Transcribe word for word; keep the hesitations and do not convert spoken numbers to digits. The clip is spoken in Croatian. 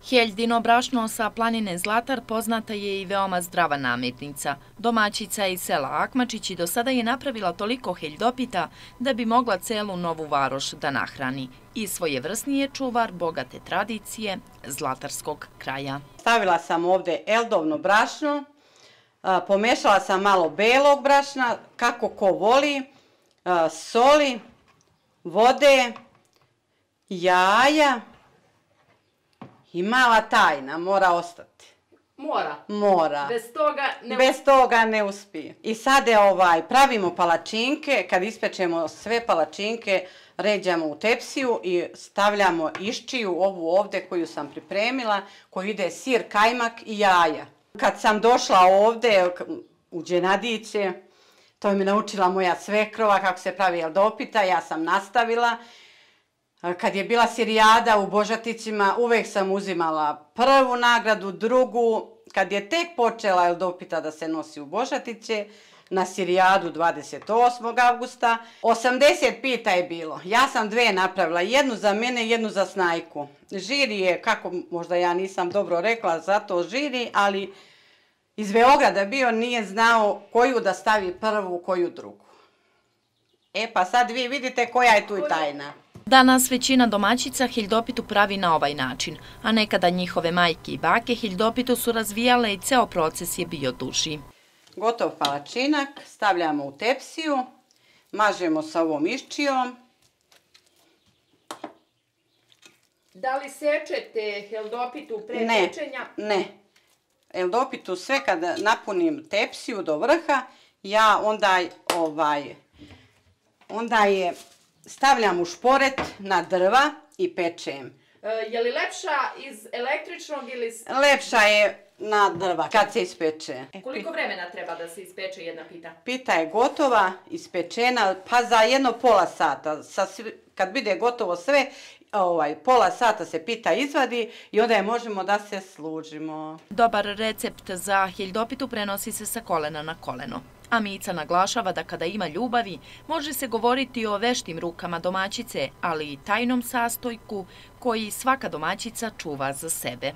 Heljino brašno sa planine Zlatar poznata je i veoma zdrava namirnica. Domaćica iz sela Akmačić i do sada je napravila toliko heljdopita da bi mogla celu Novu Varoš da nahrani. I svojevrsni je čuvar bogate tradicije zlatarskog kraja. Stavila sam ovdje eldovno brašno, pomešala sam malo belog brašna, kako ko voli, soli, vode, jaja. I mala tajna, mora ostati. Mora? Mora. Bez toga ne... Bez toga ne uspije. I sad je ovaj, pravimo palačinke, kad ispečemo sve palačinke, ređamo u tepsiju i stavljamo iščiju, ovu ovdje koju sam pripremila, koju ide sir, kajmak i jaja. Kad sam došla ovdje u Đenadiće, to mi naučila moja svekrova kako se pravi eldopita, ja sam nastavila. Kad je bila sirijada u Božatićima, uvek sam uzimala prvu nagradu, drugu. Kad je tek počela eldopita da se nosi u Božatiće, na sirijadu dvadeset osmog avgusta, osamdeset pita je bilo. Ja sam dve napravila, jednu za mene, jednu za Snajku. Žiri je, kako možda ja nisam dobro rekla za to žiri, ali iz Beograda bio, nije znao koju da stavi prvu, koju drugu. E pa sad vi vidite koja je tu i tajna. Danas većina domaćica heljdopitu pravi na ovaj način, a nekada njihove majke i bake heljdopitu su razvijale i ceo proces je bio duži. Gotov palačinak stavljamo u tepsiju, mažemo sa ovom iščijom. Da li sečete heldopitu pre pečenja? Ne, ne. Heldopitu sve kada napunim tepsiju do vrha, ja onda ovaj, onda je stavljam u šporet na drva i pečem. Je li lepša iz električnog ili... Lepša je na drva kad se ispeče. Koliko vremena treba da se ispeče jedna pita? Pita je gotova, ispečena, pa za jedno pola sata. Kad bude gotovo sve, pola sata se pita izvadi i onda je možemo da se služimo. Dobar recept za heljdopitu prenosi se sa kolena na koleno. A Mica naglašava da kada ima ljubavi, može se govoriti o veštim rukama domaćice, ali i tajnom sastojku koji svaka domaćica čuva za sebe.